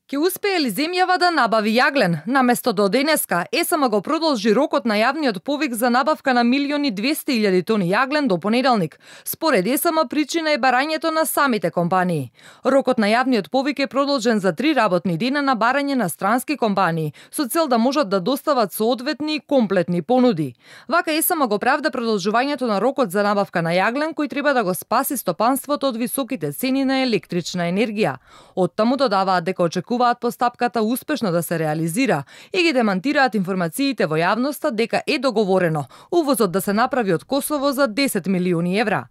Ке успее ли земјава да набави јаглен? Наместо до денеска, ЕСМ го продолжи рокот на јавниот повик за набавка на 1.200.000 тони јаглен до понеделник. Според ЕСМ причина е барањето на самите компании. Рокот на јавниот повик е продолжен за 3 работни дена на барање на странски компании, со цел да можат да достават соодветни комплетни понуди. Вака ЕСМ го правда продолжувањето на рокот за набавка на јаглен, кој треба да го спаси стопанството од високите цени на електрична енергија. Оттаму додаваат дека очекуваат постапката успешно да се реализира и ги демантираат информациите во јавноста дека е договорено увозот да се направи од Косово за 10 милиони евра.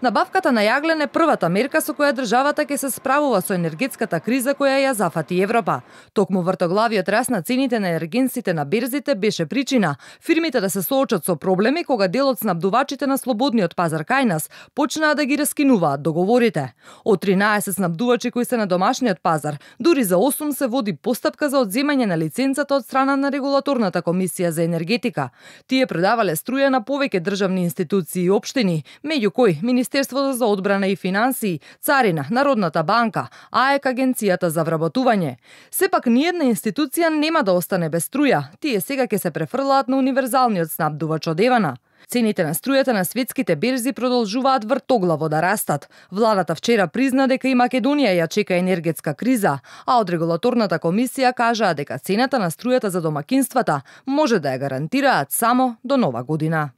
Набавката на јаглен е првата мерка со која државата ќе се справува со енергетската криза која ја зафати Европа. Токму вртоглавиот раст на цените на енергенсите на берзите беше причина фирмите да се соочат со проблеми кога дел од снабдувачите на слободниот пазар кај нас почнаа да ги раскинуваат договорите. Од 13 снабдувачи кои се на домашниот пазар, дури за 8 се води постапка за одземање на лиценцата од страна на регулаторната комисија за енергетика. Тие продавале струја на повеќе државни институции и општини, меѓу кои Министерството за одбрана и финансии, Царина, Народната банка, АЕК агенцијата за вработување. Сепак ниедна институција нема да остане без струја. Тие сега ќе се префрлаат на универзалниот снабдувач од Евана. Цените на струјата на светските берзи продолжуваат вртоглаво да растат. Владата вчера призна дека и Македонија ја чека енергетска криза, а од регулаторната комисија кажаа дека цената на струјата за домакинствата може да ја гарантираат само до нова година.